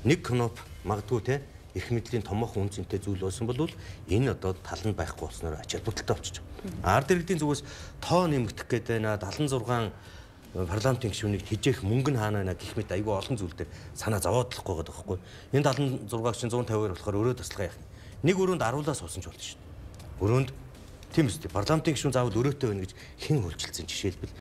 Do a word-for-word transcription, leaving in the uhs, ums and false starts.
нэг кноп магадгүй те их мэдлийн томоохон үнцэнтэй зүйл болсон бол энэ одоо таланд байхгүй болсноор ач холбогдолтой болчих. Ард иргэдийн зүгээс тоо нэмэгдэх гээд байна. далан зургаан парламентын гишүүнийг хижээх мөнгө нь хаана байна гэх мэт айгүй олон зүйл дээр санаа зовоодлохгүй байгаа байхгүй. Энэ далан зургааг чинь one fifty-хоёр болохоор өрөө таслага яах юм. Нэг өрөөнд аруулаас суусан ч болно шүү дээ. Өрөөнд тийм үстэй парламентын гишүүн заавал өрөөтэй байна гэж хэн хөлжилсэн жишээлбэл